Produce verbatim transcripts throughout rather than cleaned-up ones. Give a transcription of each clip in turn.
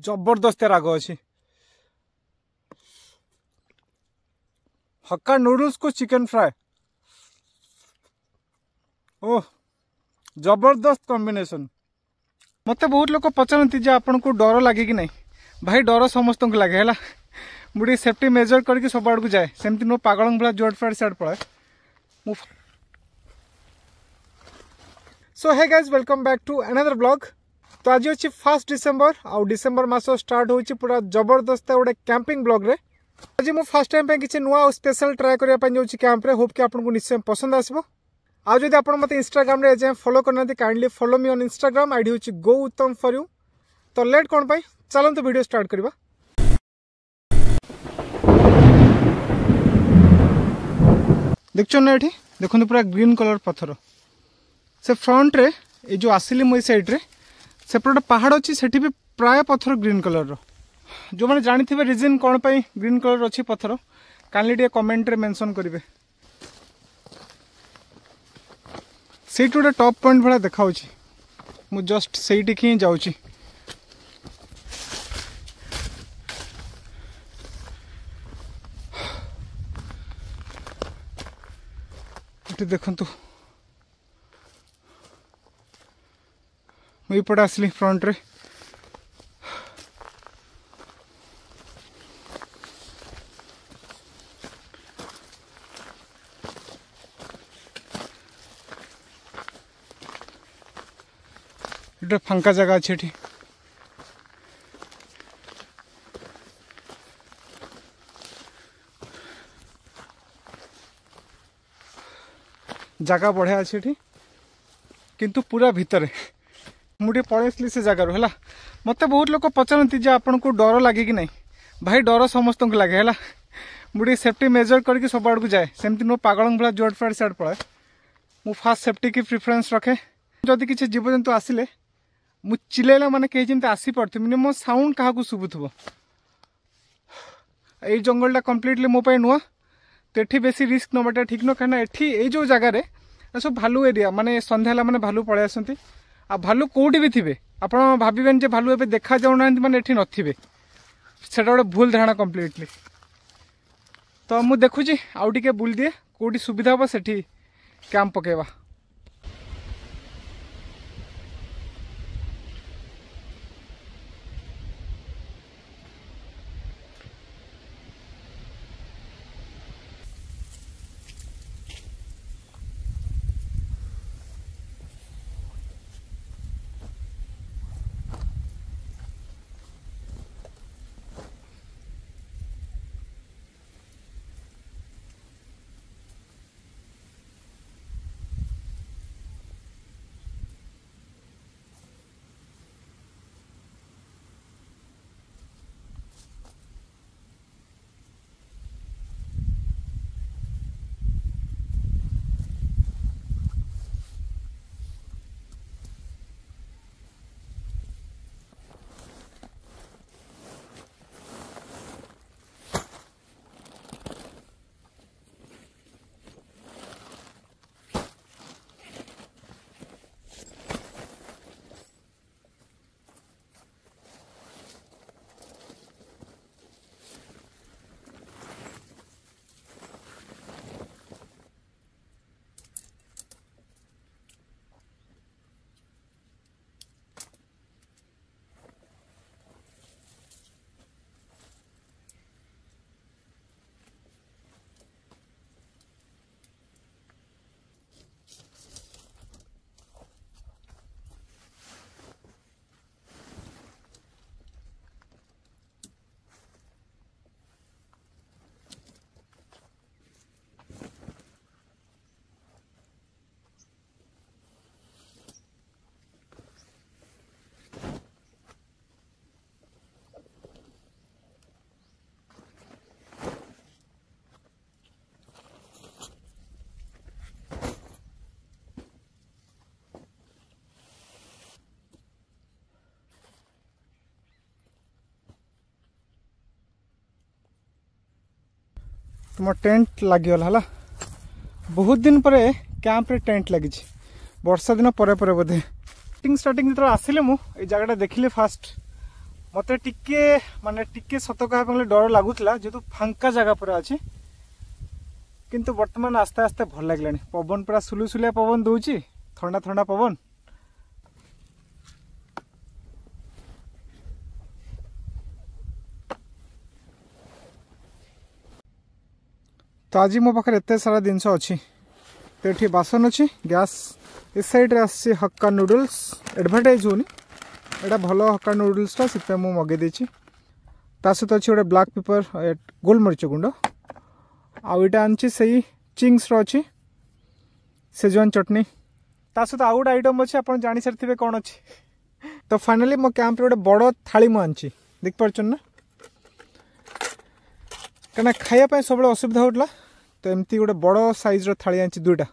ଜବରଦସ୍ତ ରାଗ ଅଛି। ହକ୍କା ନୁଡଲ୍ସକୁ ଚିକେନ୍ ଫ୍ରାଏ, ଓହ ଜବରଦସ୍ତ କମ୍ବିନେସନ୍। ମୋତେ ବହୁତ ଲୋକ ପଚାରନ୍ତି ଯେ ଆପଣଙ୍କୁ ଡର ଲାଗେ କି ନାହିଁ। ଭାଇ, ଡର ସମସ୍ତଙ୍କୁ ଲାଗେ ହେଲା। ମୁଁ ଟିକେ ସେଫ୍ଟି ମେଜର କରିକି ସବୁ ଆଡ଼କୁ ଯାଏ, ସେମିତି ନୁହଁ ପାଗଳଙ୍କ ଭଳିଆ ଯୁଆଡ଼େ ଫୁଆଡ଼େ ସିଆଡ଼େ ପଳାଏ ମୁଁ। So hey guys, welcome back to another vlog। ତ ଆଜି ଅଛି ଫାର୍ଷ୍ଟ ଡିସେମ୍ବର ଆଉ ଡିସେମ୍ବର ମାସ ଷ୍ଟାର୍ଟ ହେଉଛି ପୁରା ଜବରଦସ୍ତ ଗୋଟେ କ୍ୟାମ୍ପିଂ ବ୍ଲଗ୍ରେ। ଆଜି ମୁଁ ଫାର୍ଷ୍ଟ ଟାଇମ୍ ପାଇଁ କିଛି ନୂଆ ଆଉ ସ୍ପେଶାଲ ଟ୍ରାଏ କରିବା ପାଇଁ ଯାଉଛି କ୍ୟାମ୍ପରେ। ହୋପ୍ କି ଆପଣଙ୍କୁ ନିଶ୍ଚୟ ପସନ୍ଦ ଆସିବ। ଆଉ ଯଦି ଆପଣ ମୋତେ ଇନଷ୍ଟାଗ୍ରାମରେ ଏଯାଏଁ ଫଲୋ କରିନାହାନ୍ତି, kindly follow me on Instagram। I D ହେଉଛି ଗୋ ଉତ୍ତମ ଫର୍ you. ତ ଲେଟ୍ କ'ଣ ପାଇଁ, ଚାଲନ୍ତୁ ଭିଡ଼ିଓ ଷ୍ଟାର୍ଟ କରିବା। ଦେଖୁଛନ୍ତି ନା, ଏଠି ଦେଖନ୍ତୁ ପୁରା ଗ୍ରୀନ୍ କଲର୍ ପଥର। ସେ ଫ୍ରଣ୍ଟରେ ଏଇ ଯେଉଁ ଆସିଲି ମୁଁ, ଏଇ ସାଇଡ଼୍ରେ ସେପଟେ ଗୋଟେ ପାହାଡ଼ ଅଛି, ସେଠି ବି ପ୍ରାୟ ପଥର ଗ୍ରୀନ୍ କଲର୍ର। ଯେଉଁମାନେ ଜାଣିଥିବେ ରିଜନ୍ କ'ଣ ପାଇଁ ଗ୍ରୀନ୍ କଲର୍ ଅଛି ପଥର, କାଇଣ୍ଡଲି ଟିକେ କମେଣ୍ଟରେ ମେନସନ୍ କରିବେ। ସେଇଠି ଗୋଟେ ଟପ୍ ପଏଣ୍ଟ ଭଳିଆ ଦେଖାହେଉଛି, ମୁଁ ଜଷ୍ଟ ସେଇଠିକି ହିଁ ଯାଉଛି। ଏଠି ଦେଖନ୍ତୁ, ମୁଁ ଏପଟେ ଆସିଲି ଫ୍ରଣ୍ଟରେ। ଏଟା ଫାଙ୍କା ଜାଗା ଅଛି ଏଠି। ଜାଗା ବଢ଼ିଆ ଅଛି ଏଠି, କିନ୍ତୁ ପୁରା ଭିତରେ। ମୁଁ ଟିକେ ପଳେଇ ଆସିଲି ସେ ଜାଗାରୁ ହେଲା। ମୋତେ ବହୁତ ଲୋକ ପଚାରନ୍ତି ଯେ ଆପଣଙ୍କୁ ଡର ଲାଗେ କି ନାହିଁ। ଭାଇ, ଡର ସମସ୍ତଙ୍କୁ ଲାଗେ ହେଲା। ମୁଁ ଟିକେ ସେଫ୍ଟି ମେଜର କରିକି ସବୁ ଆଡ଼କୁ ଯାଏ, ସେମିତି ନୁହଁ ପାଗଳଙ୍କ ଭଳିଆ ଯୁଆଡ଼େ ଫୁଆଡ଼େ ସିଆଡ଼େ ପଳାଏ ମୁଁ। ଫାର୍ଷ୍ଟ ସେଫ୍ଟିକି ପ୍ରିଫରେନ୍ସ ରଖେ। ଯଦି କିଛି ଜୀବଜନ୍ତୁ ଆସିଲେ ମୁଁ ଚିଲେଇଲା ମାନେ କେହି ଯେମିତି ଆସିପାରୁଥିବେ, ମିନିମମ୍ ସାଉଣ୍ଡ କାହାକୁ ଶୁଭୁଥିବ। ଏଇ ଜଙ୍ଗଲଟା କମ୍ପ୍ଲିଟଲି ମୋ ପାଇଁ ନୂଆ, ତ ଏଠି ବେଶୀ ରିସ୍କ ନେବାଟା ଠିକ୍ ନୁହଁ, କାହିଁକିନା ଏଠି ଏଇ ଯେଉଁ ଜାଗାରେ ସବୁ ଭାଲୁ ଏରିଆ, ମାନେ ସନ୍ଧ୍ୟା ହେଲା ମାନେ ଭାଲୁ ପଳେଇ ଆସନ୍ତି। ଆଉ ଭାଲୁ କେଉଁଠି ବି ଥିବେ, ଆପଣ ଭାବିବେନି ଯେ ଭାଲୁ ଏବେ ଦେଖାଯାଉନାହାନ୍ତି ମାନେ ଏଠି ନଥିବେ, ସେଟା ଗୋଟେ ଭୁଲ ଧାରଣା କମ୍ପ୍ଲିଟଲି। ତ ମୁଁ ଦେଖୁଛି, ଆଉ ଟିକେ ବୁଲିଦିଏ, କେଉଁଠି ସୁବିଧା ହେବ ସେଠି କ୍ୟାମ୍ପ ପକାଇବା। ତୁମ ଟେଣ୍ଟ ଲାଗିଗଲା ହେଲା। ବହୁତ ଦିନ ପରେ କ୍ୟାମ୍ପରେ ଟେଣ୍ଟ ଲାଗିଛି, ବର୍ଷା ଦିନ ପରେ ପରେ ବୋଧେ। ଷ୍ଟାର୍ଟିଂ ଷ୍ଟାର୍ଟିଂ ଯେତେବେଳେ ଆସିଲେ ମୁଁ ଏଇ ଜାଗାଟା ଦେଖିଲି ଫାଷ୍ଟ, ମୋତେ ଟିକେ ମାନେ ଟିକେ ସତ କହିବା ପାଇଁ ଗଲେ ଡର ଲାଗୁଥିଲା, ଯେହେତୁ ଫାଙ୍କା ଜାଗା ପୁରା ଅଛି। କିନ୍ତୁ ବର୍ତ୍ତମାନ ଆସ୍ତେ ଆସ୍ତେ ଭଲ ଲାଗିଲାଣି। ପବନ ପୁରା ସୁଲୁସୁଲିଆ ପବନ ଦଉଛି, ଥଣ୍ଡା ଥଣ୍ଡା ପବନ। ତ ଆଜି ମୋ ପାଖରେ ଏତେ ସାରା ଜିନିଷ ଅଛି। ତ ଏଠି ବାସନ ଅଛି, ଗ୍ୟାସ୍ ଏ ସାଇଡ଼୍ରେ ଆସିଛି ହକ୍କା ନୁଡଲ୍ସ। ଆଡ଼ଭର୍ଟାଇଜ୍ ହେଉନି, ଏଇଟା ଭଲ ହକ୍କା ନୁଡଲ୍ସଟା, ସେଥିପାଇଁ ମୁଁ ମଗେଇ ଦେଇଛି। ତା ସହିତ ଅଛି ଗୋଟେ ବ୍ଲାକ୍ ପେପର, ଗୋଲମରିଚ ଗୁଣ୍ଡ। ଆଉ ଏଇଟା ଆଣିଛି ସେଇ ଚିଙ୍ଗସର ଅଛି ସେଜୱାନ ଚଟଣି। ତା ସହିତ ଆଉ ଗୋଟେ ଆଇଟମ୍ ଅଛି, ଆପଣ ଜାଣିସାରିଥିବେ କ'ଣ ଅଛି। ତ ଫାଇନାଲି ମୋ କ୍ୟାମ୍ପରେ ଗୋଟେ ବଡ଼ ଥାଳି ମୁଁ ଆଣିଛି, ଦେଖିପାରୁଛନ୍ତି ନା? କାହିଁକିନା ଖାଇବା ପାଇଁ ସବୁବେଳେ ଅସୁବିଧା ହେଉଥିଲା, ତ ଏମିତି ଗୋଟେ ବଡ଼ ସାଇଜ୍ର ଥାଳି ଆଣିଛି ଦୁଇଟା।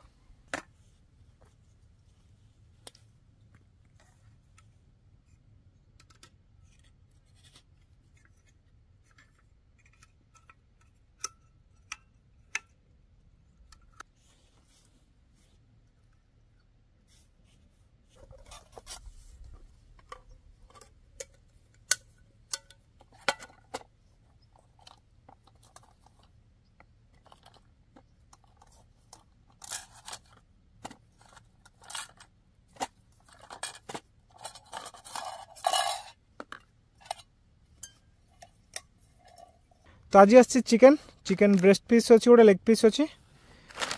ତ ଆଜି ଆସିଛି ଚିକେନ୍, ଚିକେନ୍ ବ୍ରେଷ୍ଟ ପିସ୍ ଅଛି, ଗୋଟେ ଲେଗ୍ ପିସ୍ ଅଛି,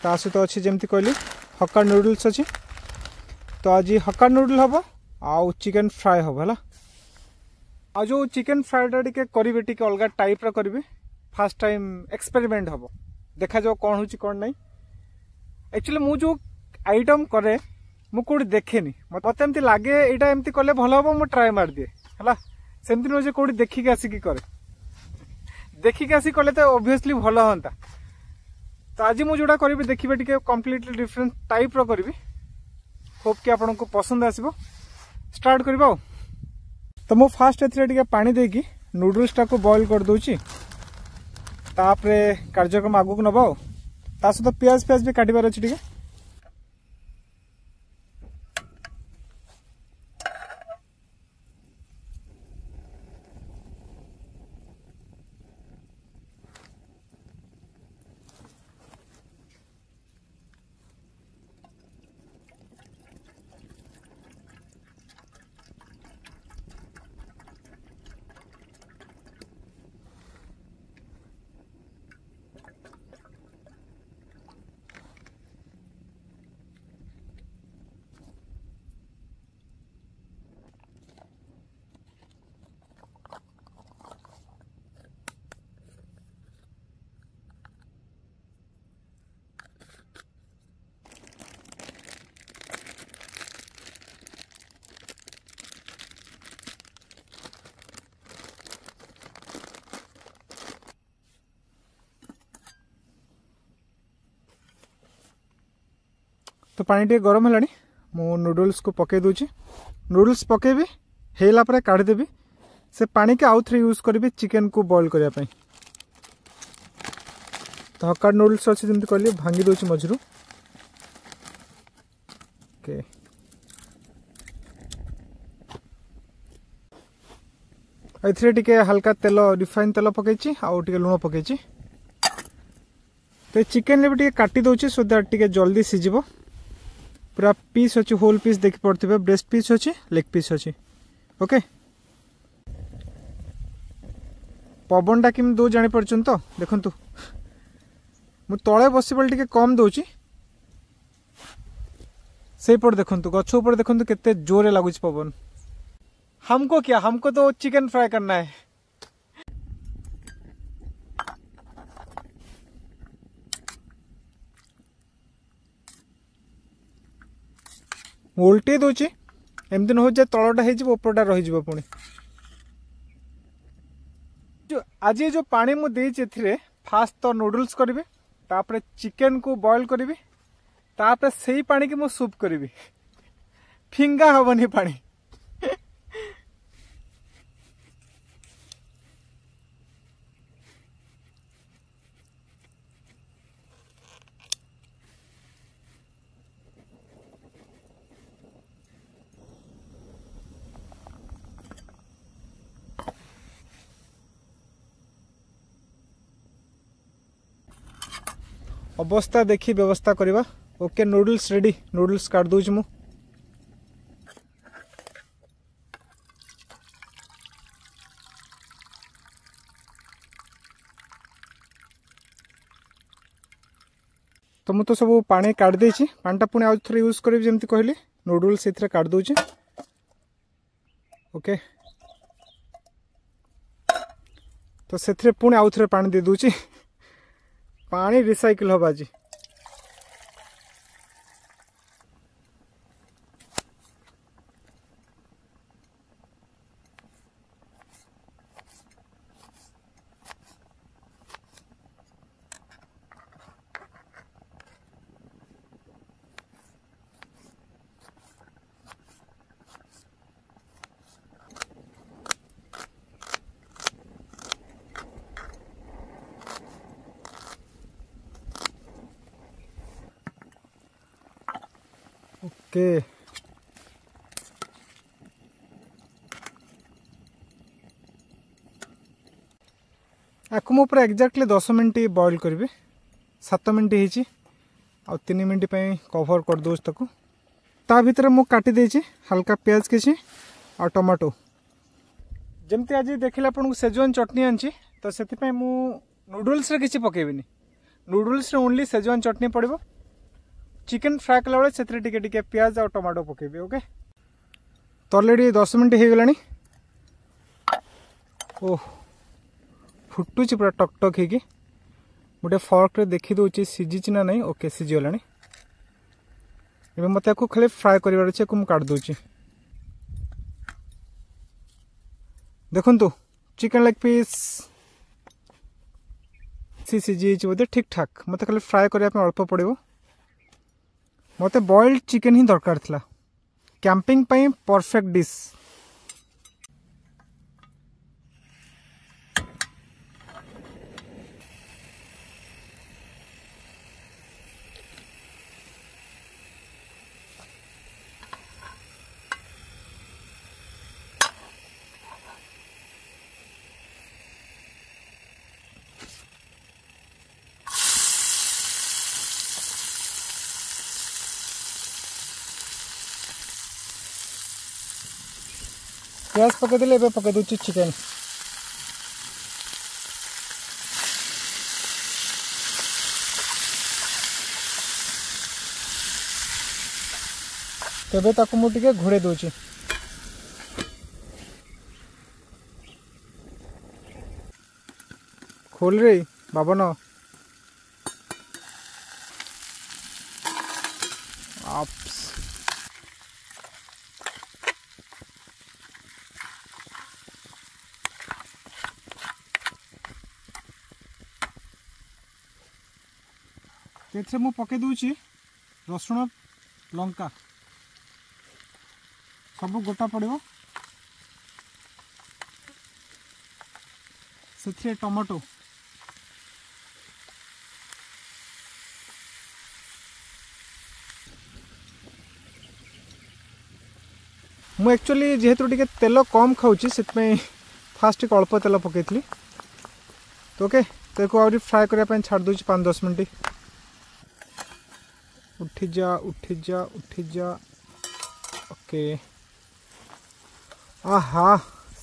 ତା ସହିତ ଅଛି ଯେମିତି କହିଲି ହକ୍କା ନୁଡଲ୍ସ ଅଛି। ତ ଆଜି ହକ୍କା ନୁଡଲ୍ ହେବ ଆଉ ଚିକେନ୍ ଫ୍ରାଏ ହେବ, ହେଲା। ଆଉ ଯେଉଁ ଚିକେନ୍ ଫ୍ରାଏଟା ଟିକେ କରିବେ, ଟିକେ ଅଲଗା ଟାଇପ୍ର କରିବେ, ଫାର୍ଷ୍ଟ ଟାଇମ୍ ଏକ୍ସପେରିମେଣ୍ଟ ହେବ, ଦେଖାଯାଉ କ'ଣ ହେଉଛି କ'ଣ ନାହିଁ। ଆକ୍ଚୁଆଲି ମୁଁ ଯେଉଁ ଆଇଟମ୍ କରେ ମୁଁ କେଉଁଠି ଦେଖେନି, ମୋତେ ଏମିତି ଲାଗେ ଏଇଟା ଏମିତି କଲେ ଭଲ ହେବ, ମୁଁ ଟ୍ରାଏ ମାରିଦିଏ, ହେଲା। ସେମିତି ନୁହେଁ ଯେ କେଉଁଠି ଦେଖିକି ଆସିକି କରେ, ଦେଖିକି ଆସି କଲେ ତ ଅବଭିୟସଲି ଭଲ ହୁଅନ୍ତା। ତ ଆଜି ମୁଁ ଯେଉଁଟା କରିବି ଦେଖିବେ ଟିକେ କମ୍ପ୍ଲିଟଲି ଡିଫରେଣ୍ଟ ଟାଇପ୍ର କରିବି, ହୋପ୍ କି ଆପଣଙ୍କୁ ପସନ୍ଦ ଆସିବ। ଷ୍ଟାର୍ଟ କରିବା ଆଉ। ତ ମୁଁ ଫାଷ୍ଟ ଏଥିରେ ଟିକେ ପାଣି ଦେଇକି ନୁଡଲ୍ସଟାକୁ ବଏଲ୍ କରିଦେଉଛି, ତାପରେ କାର୍ଯ୍ୟକ୍ରମ ଆଗକୁ ନେବା ଆଉ। ତା ସହିତ ପିଆଜ ଫିଆଜ ବି କାଟିବାର ଅଛି ଟିକେ। ତ ପାଣି ଟିକେ ଗରମ ହେଲାଣି, ମୁଁ ନୁଡଲ୍ସକୁ ପକାଇ ଦେଉଛି। ନୁଡଲ୍ସ ପକାଇବି, ହେଇଲା ପରେ କାଢ଼ିଦେବି, ସେ ପାଣିକି ଆଉ ଥରେ ୟୁଜ୍ କରିବି ଚିକେନକୁ ବଏଲ୍ କରିବା ପାଇଁ। ତ ହକ୍କା ନୁଡଲ୍ସ ଅଛି ଯେମିତି କହିଲି, ଭାଙ୍ଗି ଦେଉଛି ମଝିରୁ। ଓକେ, ଏଥିରେ ଟିକେ ହାଲକା ତେଲ, ରିଫାଇନ୍ ତେଲ ପକାଇଛି ଆଉ ଟିକେ ଲୁଣ ପକାଇଛି। ତ ଏ ଚିକେନରେ ବି ଟିକେ କାଟି ଦେଉଛି, ସୋ that ଟିକେ ଜଲ୍ଦି ସିଝିବ। ପୁରା ପିସ୍ ଅଛି, ହୋଲ୍ ପିସ୍ ଦେଖିପାରୁଥିବେ, ବ୍ରେଷ୍ଟ ପିସ୍ ଅଛି, ଲେଗ୍ ପିସ୍ ଅଛି। ଓକେ, ପବନଟା କେମିତି ଦେଉଛି ଜାଣିପାରୁଛନ୍ତି ତ? ଦେଖନ୍ତୁ, ମୁଁ ତଳେ ବସିବେଳେ ଟିକେ କମ୍ ଦେଉଛି, ସେଇପଟେ ଦେଖନ୍ତୁ, ଗଛ ଉପରେ ଦେଖନ୍ତୁ କେତେ ଜୋରେ ଲାଗୁଛି ପବନ। हमको क्या, हमको तो चिकन फ्राई करना है। ମୁଁ ଓଲଟେଇ ଦେଉଛି, ଏମିତି ନ ହଉ ଯେ ତଳଟା ହେଇଯିବ ଉପରଟା ରହିଯିବ ପୁଣି। ଆଜି ଯେଉଁ ପାଣି ମୁଁ ଦେଇଛି ଏଥିରେ ଫାଷ୍ଟ ତ ନୁଡଲ୍ସ କରିବି, ତାପରେ ଚିକେନକୁ ବଏଲ୍ କରିବି, ତାପରେ ସେଇ ପାଣିକି ମୁଁ ସୁପ୍ କରିବି, ଫିଙ୍ଗା ହବନି ପାଣି। ଅବସ୍ଥା ଦେଖି ବ୍ୟବସ୍ଥା କରିବା। Okay, noodles ready. ନୁଡଲ୍ସ କାଟି ଦେଉଛି ମୁଁ। ତ ମୁଁ ତ ସବୁ ପାଣି କାଢ଼ି ଦେଇଛି। ପାଣିଟା ପୁଣି ଆଉ ଥରେ ୟୁଜ୍ କରିବି, ଯେମିତି କହିଲି। ନୁଡଲ୍ସ ସେଥିରେ କାଢ଼ି ଦେଉଛି। ଓକେ, ତ ସେଥିରେ ପୁଣି ଆଉ ଥରେ ପାଣି ଦେଇ ଦେଉଛି। ପାଣି ରିସାଇକେଲ ହେବ ଆଜି। ଓକେ, ଆକୁ ମୁଁ ପୁରା ଏକ୍ଜାକ୍ଟଲି ଦଶ ମିନିଟ୍ ବଏଲ୍ କରିବି। ସାତ ମିନିଟ୍ ହେଇଛି, ଆଉ ତିନି ମିନିଟ୍ ପାଇଁ କଭର୍ କରିଦେଉଛି ତାକୁ। ତା ଭିତରେ ମୁଁ କାଟି ଦେଇଛି ହାଲକା ପିଆଜ କିଛି ଆଉ ଟମାଟୋ। ଯେମିତି ଆଜି ଦେଖିଲେ ଆପଣଙ୍କୁ ସେଜୱାନ ଚଟଣି ଆଣିଛି, ତ ସେଥିପାଇଁ ମୁଁ ନୁଡଲ୍ସରେ କିଛି ପକାଇବିନି। ନୁଡଲ୍ସରେ ଓନ୍ଲି ସେଜୱାନ ଚଟଣି ପଡ଼ିବ। ଚିକେନ୍ ଫ୍ରାଏ କଲାବେଳେ ସେଥିରେ ଟିକେ ଟିକେ ପିଆଜ ଆଉ ଟମାଟୋ ପକାଇବି। ଓକେ, ତ ଅଲରେଡ଼ି ଦଶ ମିନିଟ୍ ହେଇଗଲାଣି। ଓହ, ଫୁଟୁଛି ପୁରା ଟକ୍ ଟକ୍ ହେଇକି। ଗୋଟେ ଫର୍କରେ ଦେଖିଦେଉଛି ସିଝିଛି ନା ନାହିଁ। ଓକେ, ସିଝିଗଲାଣି। ଏବେ ମୋତେ ଆକୁ ଖାଲି ଫ୍ରାଏ କରିବାର ଅଛି। ଆକୁ ମୁଁ କାଟି ଦେଉଛି। ଦେଖନ୍ତୁ, ଚିକେନ୍ ଲେଗ୍ ପିସ୍ ସିଝି ଯାଇଛି ବୋଧେ ଠିକ୍ ଠାକ୍। ମୋତେ ଖାଲି ଫ୍ରାଏ କରିବା ପାଇଁ ଅଳ୍ପ ପଡ଼ିବ। ମୋତେ ବଏଲ୍ଡ ଚିକେନ୍ ହିଁ ଦରକାର ଥିଲା। କ୍ୟାମ୍ପିଂ ପାଇଁ ପରଫେକ୍ଟ ଡିସ୍। ପିଆଜ ପକାଇଦେଲି, ଏବେ ପକାଇ ଦେଉଛି ଚିକେନ୍। ତେବେ ତାକୁ ମୁଁ ଟିକେ ଘୋଡ଼େଇ ଦେଉଛି। ଖୋଲରେ ବାବନ। ଆପସ୍ ଏଥିରେ ମୁଁ ପକାଇ ଦେଉଛି ରସୁଣ, ଲଙ୍କା ସବୁ ଗୋଟା ପଡ଼ିବ। ସେଥିରେ ଟମାଟୋ, ମୁଁ ଆକ୍ଚୁଆଲି ଯେହେତୁ ଟିକେ ତେଲ କମ୍ ଖାଉଛି, ସେଥିପାଇଁ ଫାଷ୍ଟ ଟିକେ ଅଳ୍ପ ତେଲ ପକାଇଥିଲି। ତ ଓକେ, ତାକୁ ଆହୁରି ଫ୍ରାଏ କରିବା ପାଇଁ ଛାଡ଼ି ଦେଉଛି ପାଞ୍ଚ ଦଶ ମିନିଟ୍। ଉଠିଯା, ଉଠିଯା, ଉଠିଯା। ଓକେ, ଆହା,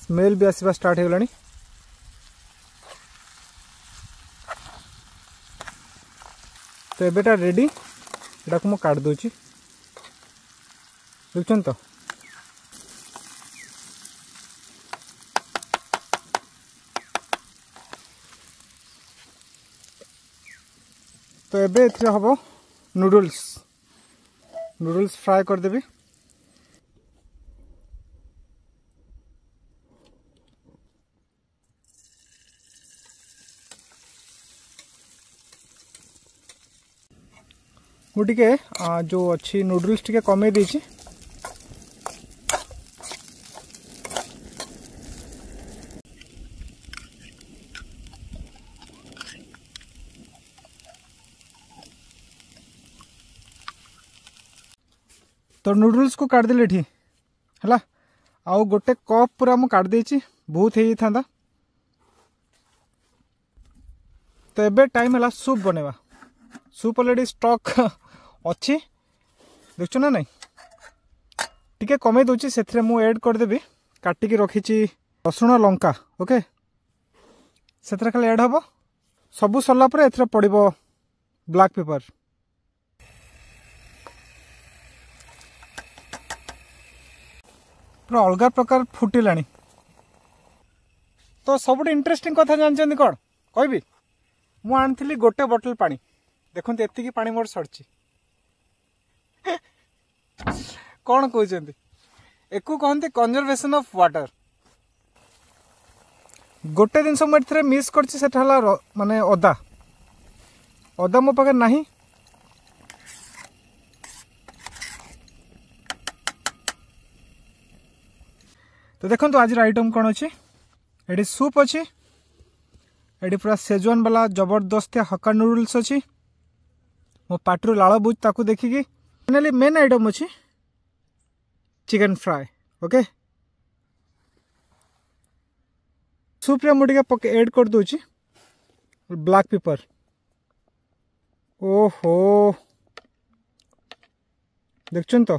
ସ୍ମେଲ୍ ବି ଆସିବା ଷ୍ଟାର୍ଟ ହେଇଗଲାଣି। ତ ଏବେଟା ରେଡ଼ି। ଏଟାକୁ ମୁଁ କାଟି ଦେଉଛି, ଦେଖୁଛନ୍ତି ତ? ତ ଏବେ ଏଥିରେ ହେବ ନୁଡଲ୍ସ। ନୁଡଲ୍ସ ଫ୍ରାଏ କରିଦେବି। ମୁଁ ଟିକେ ଯେଉଁ ଅଛି ନୁଡଲ୍ସ ଟିକେ କମେଇ ଦେଇଛି। ତ ନୁଡଲ୍ସକୁ କାଟିଦେଲି ଏଠି ହେଲା, ଆଉ ଗୋଟେ କପ୍ ପୁରା ମୁଁ କାଟିଦେଇଛି, ବହୁତ ହେଇଯାଇଥାନ୍ତା। ତ ଏବେ ଟାଇମ୍ ହେଲା ସୁପ୍ ବନେଇବା। ସୁପ୍ ଅଲରେଡ଼ି ଷ୍ଟକ୍ ଅଛି, ଦେଖୁଛ ନା ନାଇଁ? ଟିକେ କମେଇ ଦେଉଛି। ସେଥିରେ ମୁଁ ଏଡ୍ କରିଦେବି, କାଟିକି ରଖିଛି ରସୁଣ ଲଙ୍କା। ଓକେ, ସେଥିରେ ଖାଲି ଏଡ୍ ହେବ। ସବୁ ସରିଲା ପରେ ଏଥିରେ ପଡ଼ିବ ବ୍ଲାକ୍ ପେପର। ପୁରା ଅଲଗା ପ୍ରକାର ଫୁଟିଲାଣି। ତ ସବୁଠୁ ଇଣ୍ଟରେଷ୍ଟିଂ କଥା ଜାଣିଛନ୍ତି କ'ଣ କହିବି? ମୁଁ ଆଣିଥିଲି ଗୋଟେ ବଟଲ ପାଣି, ଦେଖନ୍ତୁ ଏତିକି ପାଣି ମୋର ସରିଛି। କ'ଣ କହୁଛନ୍ତି? ଏକୁ କହନ୍ତି କନଜରଭେସନ୍ ଅଫ୍ ୱାଟର। ଗୋଟେ ଜିନିଷ ମୁଁ ଏଥିରେ ମିସ୍ କରିଛି, ସେଟା ହେଲା ମାନେ ଅଦା। ଅଦା ମୋ ପାଖରେ ନାହିଁ। ତ ଦେଖନ୍ତୁ ଆଜିର ଆଇଟମ୍ କ'ଣ ଅଛି। ଏଠି ସୁପ୍ ଅଛି, ଏଠି ପୁରା ସେଜୱାନ ବାଲା ଜବରଦସ୍ତିଆ ହକା ନୁଡଲ୍ସ ଅଛି। ମୋ ପାଟିରୁ ଲାଳ ବୁଝ ତାକୁ ଦେଖିକି। ଫାଇନାଲି ମେନ୍ ଆଇଟମ୍ ଅଛି ଚିକେନ୍ ଫ୍ରାଏ। ଓକେ, ସୁପ୍ରେ ମୁଁ ଟିକେ ପକେ ଏଡ୍ କରିଦେଉଛି ବ୍ଲାକ୍ ପେପର। ଓହୋ, ଦେଖୁଛନ୍ତି ତ,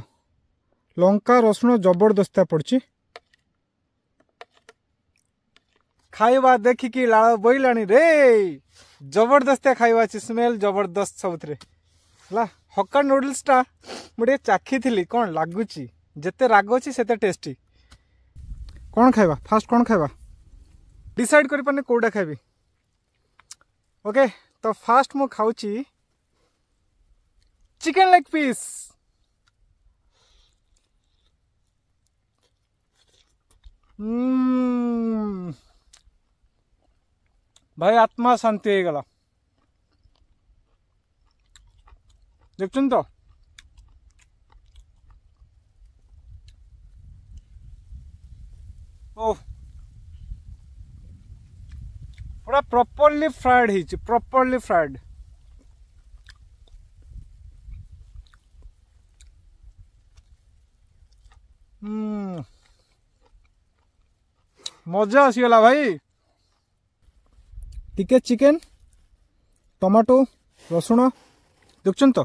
ଲଙ୍କା ରସୁଣ ଜବରଦସ୍ତିଆ ପଡ଼ିଛି। ଖାଇବା ଦେଖିକି ଲାଳ ବୋଇଲାଣି ରେ। ଜବରଦସ୍ତିଆ ଖାଇବା ଅଛି, ସ୍ମେଲ୍ ଜବରଦସ୍ତ ସବୁଥିରେ ହେଲା। ହକା ନୁଡଲ୍ସଟା ମୁଁ ଟିକେ ଚାଖିଥିଲି, କ'ଣ ଲାଗୁଛି? ଯେତେ ରାଗ ଅଛି ସେତେ ଟେଷ୍ଟି। କ'ଣ ଖାଇବା ଫାଷ୍ଟ, କ'ଣ ଖାଇବା ଡିସାଇଡ୍ କରିପାରୁନି କେଉଁଟା ଖାଇବି। ଓକେ, ତ ଫାଷ୍ଟ ମୁଁ ଖାଉଛି ଚିକେନ୍ ଲେଗ୍ ପିସ୍। ଭାଇ, ଆତ୍ମା ଶାନ୍ତି ହେଇଗଲା। ଦେଖୁଛନ୍ତି ତ? ଓ, ପୁରା ପ୍ରପରଲି ଫ୍ରାଏଡ୍ ହେଇଛି, ପ୍ରପରଲି ଫ୍ରାଏଡ୍। ମଜା ଆସିଗଲା ଭାଇ। ଟିକେ ଚିକେନ, ଟମାଟୋ, ରସୁଣ, ଦେଖୁଛନ୍ତି ତ?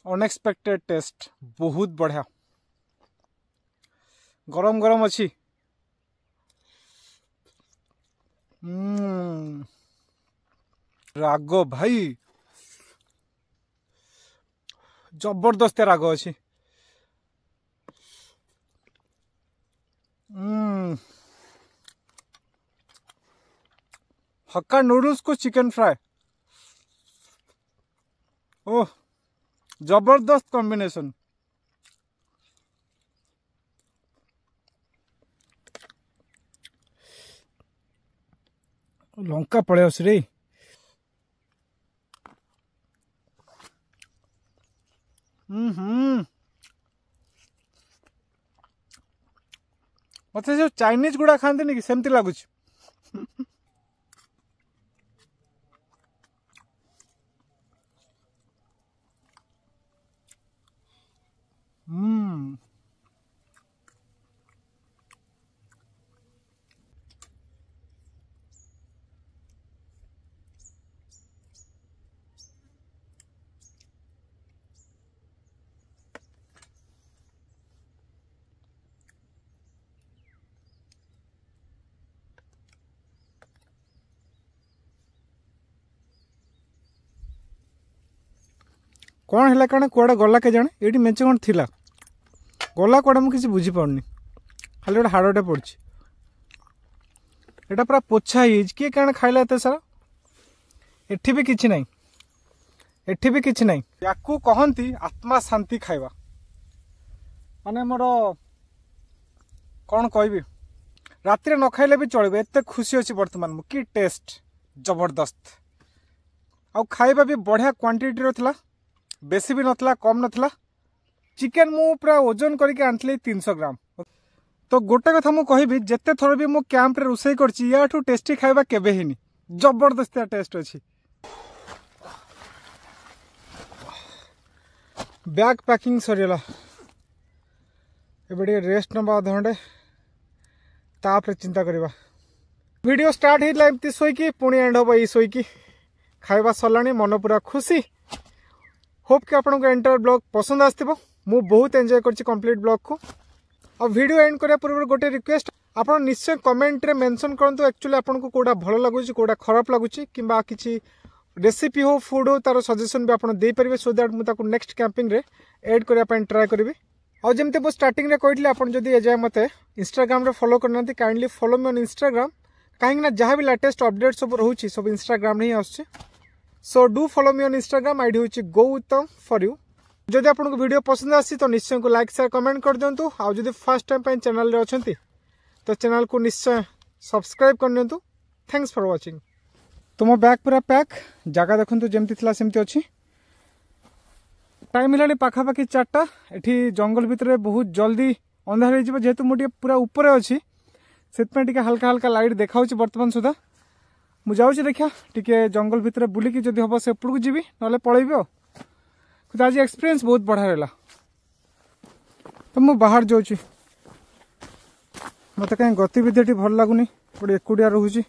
ଅନଏକ୍ସପେକ୍ଟେଡ୍ ଟେଷ୍ଟ, ବହୁତ ବଢ଼ିଆ। ଗରମ ଗରମ ଅଛି। ରାଗ ଭାଇ, ଜବରଦସ୍ତ ରାଗ ଅଛି। ହକା ନୁଡଲ୍ସକୁ ଚିକେନ ଫ୍ରାଏ, ଓହ, ଜବରଦସ୍ତ କମ୍ବିନେସନ୍। ଲଙ୍କା ପଳେଇ ଆସୁଛି ରେ। ହୁଁ, ମତେ ଯୋଉ ଚାଇନିଜ ଗୁଡ଼ା ଖାଆନ୍ତିନି କି, ସେମିତି ଲାଗୁଛି। ହୁଁ, କ'ଣ ହେଲା, କ'ଣ କୁଆଡ଼େ ଗଲା କେଜାଣି? ଏଇଠି ମେଞ୍ଚେ କ'ଣ ଥିଲା, ଗଲା କୁଆଡ଼େ ମୁଁ କିଛି ବୁଝିପାରୁନି। ଖାଲି ଗୋଟେ ହାଡ଼ଟେ ପଡ଼ିଛି। ଏଇଟା ପୁରା ପୋଛା ହେଇଯାଇଛି। କିଏ କାରଣ ଖାଇଲା ଏତେ ସାରା? ଏଠି ବି କିଛି ନାହିଁ, ଏଠି ବି କିଛି ନାହିଁ। ୟାକୁ କହନ୍ତି ଆତ୍ମା ଶାନ୍ତି ଖାଇବା। ମାନେ ମୋର କ'ଣ କହିବି, ରାତିରେ ନ ଖାଇଲେ ବି ଚଳିବ, ଏତେ ଖୁସି ଅଛି ବର୍ତ୍ତମାନ ମୁଁ। କି ଟେଷ୍ଟ, ଜବରଦସ୍ତ। ଆଉ ଖାଇବା ବି ବଢ଼ିଆ କ୍ୱାଣ୍ଟିଟିର ଥିଲା, ବେଶୀ ବି ନଥିଲା, କମ୍ ନଥିଲା। ଚିକେନ୍ ମୁଁ ପୁରା ଓଜନ କରିକି ଆଣିଥିଲି ତିନିଶହ ଗ୍ରାମ। ତ ଗୋଟେ କଥା ମୁଁ କହିବି, ଯେତେ ଥର ବି ମୁଁ କ୍ୟାମ୍ପରେ ରୋଷେଇ କରିଛି, ୟାଠୁ ଟେଷ୍ଟି ଖାଇବା କେବେ ହେଇନି। ଜବରଦସ୍ତିଆ ଟେଷ୍ଟ ଅଛି। ବ୍ୟାଗ୍ ପ୍ୟାକିଂ ସରିଗଲା, ଏବେ ଟିକେ ରେଷ୍ଟ ନେବା ଅଧଘଣ୍ଟେ, ତାପରେ ଚିନ୍ତା କରିବା। ଭିଡ଼ିଓ ଷ୍ଟାର୍ଟ ହେଇଥିଲା ଏମିତି ଶୋଇକି, ପୁଣି ଏଣ୍ଡ ହେବ ଏଇ ଶୋଇକି। ଖାଇବା ସରିଲାଣି, ମନ ପୁରା ଖୁସି। ହୋପ୍ କି ଆପଣଙ୍କୁ ଏଣ୍ଟାୟାର ବ୍ଲଗ୍ ପସନ୍ଦ ଆସିଥିବ। ମୁଁ ବହୁତ ଏନ୍ଜୟ କରିଛି କମ୍ପ୍ଲିଟ୍ ବ୍ଲଗ୍କୁ। ଆଉ ଭିଡ଼ିଓ ଏଣ୍ଡ କରିବା ପୂର୍ବରୁ ଗୋଟେ ରିକ୍ୱେଷ୍ଟ, ଆପଣ ନିଶ୍ଚୟ କମେଣ୍ଟରେ ମେନସନ୍ କରନ୍ତୁ ଆକ୍ଚୁଆଲି ଆପଣଙ୍କୁ କେଉଁଟା ଭଲ ଲାଗୁଛି, କେଉଁଟା ଖରାପ ଲାଗୁଛି, କିମ୍ବା କିଛି ରେସିପି ହଉ, ଫୁଡ୍ ହଉ, ତାର ସଜେସନ୍ ବି ଆପଣ ଦେଇପାରିବେ, ସୋ that ମୁଁ ତାକୁ ନେକ୍ସଟ କ୍ୟାମ୍ପିଂରେ ଏଡ୍ କରିବା ପାଇଁ ଟ୍ରାଏ କରିବି। ଆଉ ଯେମିତି ମୁଁ ଷ୍ଟାର୍ଟିଂରେ କହିଥିଲି, ଆପଣ ଯଦି ଏଯାଏଁ ମୋତେ ଇନଷ୍ଟାଗ୍ରାମରେ ଫଲୋ କରିନାହାନ୍ତି, kindly follow me on Instagram, କାହିଁକିନା ଯାହା ବି ଲାଟେଷ୍ଟ ଅପଡେଟ୍ ସବୁ ରହୁଛି, ସବୁ ଇନଷ୍ଟାଗ୍ରାମରେ ହିଁ ଆସୁଛି। So do follow me on Instagram, I D ହେଉଛି ଗୌତମ ଫର୍ you. ଯଦି ଆପଣଙ୍କୁ ଭିଡ଼ିଓ ପସନ୍ଦ ଆସିଛି, ତ ନିଶ୍ଚୟ ଲାଇକ୍, ସେୟାର, କମେଣ୍ଟ କରିଦିଅନ୍ତୁ। ଆଉ ଯଦି ଫାର୍ଷ୍ଟ ଟାଇମ୍ ପାଇଁ ଚ୍ୟାନେଲରେ ଅଛନ୍ତି, ତ ଚ୍ୟାନେଲକୁ ନିଶ୍ଚୟ ସବସ୍କ୍ରାଇବ୍ କରିନିଅନ୍ତୁ। Thanks for watching. ତୁମ ବ୍ୟାଗ୍ ପୁରା ପ୍ୟାକ୍, ଜାଗା ଦେଖନ୍ତୁ ଯେମିତି ଥିଲା ସେମିତି ଅଛି। ଟାଇମ୍ ହେଲାଣି ପାଖାପାଖି ଚାରିଟା। ଏଠି ଜଙ୍ଗଲ ଭିତରେ ବହୁତ ଜଲ୍ଦି ଅନ୍ଧାର ହେଇଯିବ। ଯେହେତୁ ମୁଁ ଟିକେ ପୁରା ଉପରେ ଅଛି, ସେଥିପାଇଁ ଟିକେ ହାଲକା ହାଲକା ଲାଇଟ୍ ଦେଖାଉଛି ବର୍ତ୍ତମାନ ସୁଦ୍ଧା। ମୁଁ ଯାଉଛି, ଦେଖିବା ଟିକେ ଜଙ୍ଗଲ ଭିତରେ ବୁଲିକି ଯଦି ହବ ସେପଟକୁ ଯିବି, ନହେଲେ ପଳେଇବି। ଆଉ କିନ୍ତୁ ଆଜି ଏକ୍ସପିରିଏନ୍ସ ବହୁତ ବଢ଼ିଆ ରହିଲା। ତ ମୁଁ ବାହାର ଯାଉଛି, ମୋତେ କାହିଁ ଗତିବିଧି ଏଠି ଭଲ ଲାଗୁନି, ଗୋଟେ ଏକୁଟିଆ ରହୁଛି।